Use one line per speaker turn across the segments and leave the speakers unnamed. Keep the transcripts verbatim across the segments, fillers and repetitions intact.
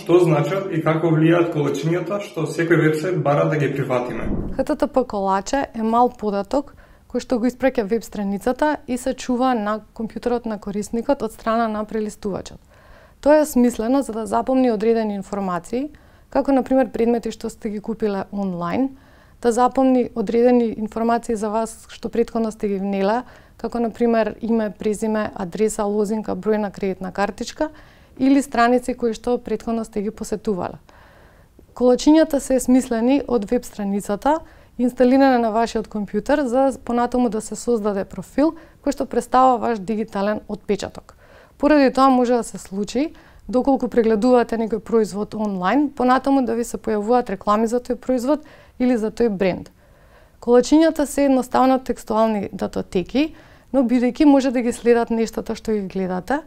Што значат и како влијаат колачињата што секој вебсајт бара да ги прифатиме?
Х Т Т П колаче е мал податок кој што го испраќа веб страницата и се чува на компјутерот на корисникот од страна на прелистувачот. Тоа е смислено за да запомни одредени информации, како на пример предмети што сте ги купиле онлайн, да запомни одредени информации за вас што претходно сте ги внеле, како на пример име, презиме, адреса, лозинка, број на кредитна картичка или страници кои што претходно сте ги посетувале. Колачињата се смислени од веб страницата, инсталирана на вашиот компјутер за понатаму да се создаде профил кој што представува ваш дигитален отпечаток. Поради тоа може да се случи, доколку прегледувате некој производ онлайн, понатаму да ви се појавуваат реклами за тој производ или за тој бренд. Колачињата се едноставно текстуални датотеки, но бидејќи може да ги следат нештата што ги гледате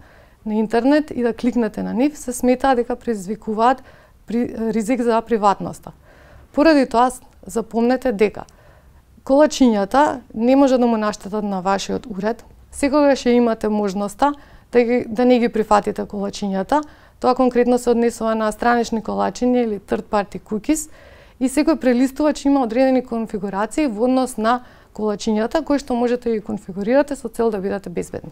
на интернет и да кликнете на нив, се сметаа дека предизвикуваат ризик за приватноста. Поради тоа, запомнете дека колачињата не може да му наштетат на вашиот уред, секогаш ќе имате можноста да, ги, да не ги прифатите колачињата. Тоа конкретно се однесува на странични колачиња или third party cookies и секој прелистувач има одредени конфигурации во однос на колачињата кои што можете да ги конфигурирате со цел да бидете безбедни.